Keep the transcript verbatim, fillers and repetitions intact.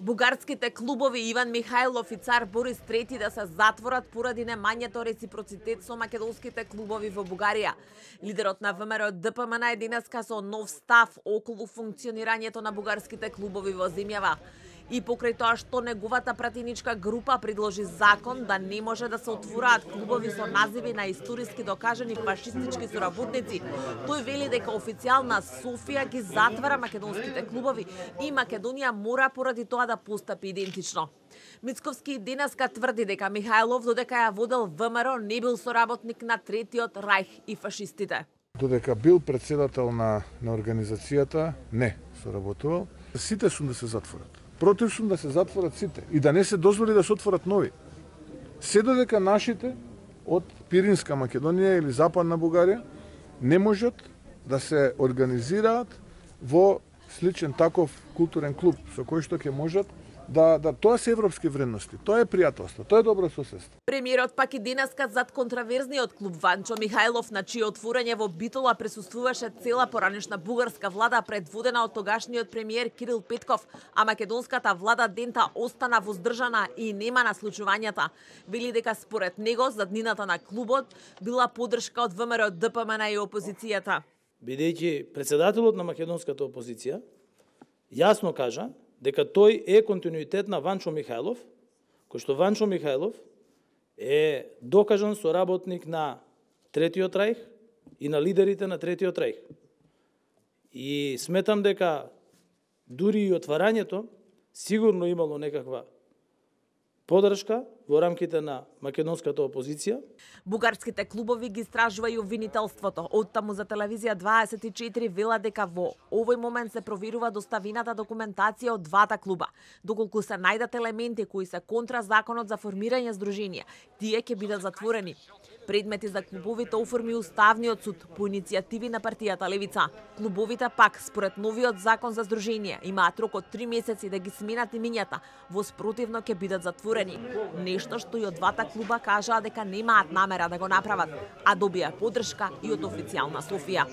Бугарските клубови Иван Михајлов и Цар Борис трети да се затворат поради немањето реципроцитет со македонските клубови во Бугарија. Лидерот на ВМРО Д П М Н е денеска со нов став околу функционирањето на бугарските клубови во земјава. И покрај тоа што неговата пратеничка група предложи закон да не може да се отвораат клубови со називи на историски докажани фашистички соработници, тој вели дека официјална Софија ги затвара македонските клубови и Македонија мора поради тоа да постапи идентично. Мицковски денеска тврди дека Михајлов, додека ја водел ВМРО, не бил соработник на Третиот рајх и фашистите. Додека бил председател на, на организацијата, не соработувал. Сите сум да се затворат. Против сум да се затворат сите и да не се дозволи да се отворат нови. Се додека нашите од Пиринска Македонија или Западна Бугарија не можат да се организираат во сличен таков културен клуб со кој што ќе можат да, да тоа се европски вредности, тоа е пријателство, тоа е добро соседство. Премиерот пак и денеска зад контраверзниот клуб Ванчо Михајлов, на чие отворање во Битола присуствуваше цела поранешна бугарска влада предводена од тогашниот премиер Кирил Петков, а македонската влада дента остана воздржана и нема на случувањата. Вели дека според него заднината на клубот била поддршка од ВМРО Д П М Н и опозицијата. Бидејќи председателот на македонската опозиција јасно кажа дека тој е континуитет на Ванчо Михајлов, кој што Ванчо Михајлов е докажан соработник на Третиот рајх и на лидерите на Третиот рајх. И сметам дека дури и отварањето сигурно имало некаква поддршка во рамките на македонската опозиција. Бугарските клубови ги истражува и обвинителството. Оттаму за телевизија дваесет и четири вела дека во овој момент се проверува доставената документација од двата клуба. Доколку се најдат елементи кои се контра законот за формирање здруженија, тие ќе бидат затворени. Предмети за клубовите оформи Уставниот суд по иницијативи на партијата Левица. Клубовите пак, според новиот закон за здруженија, имаат рок од три месеци да ги сменат имињата, во спротивно ќе бидат затворени. Нешто што и од двата клуба кажаа дека немаат намера да го направат, а добија поддршка и од официјална Софија.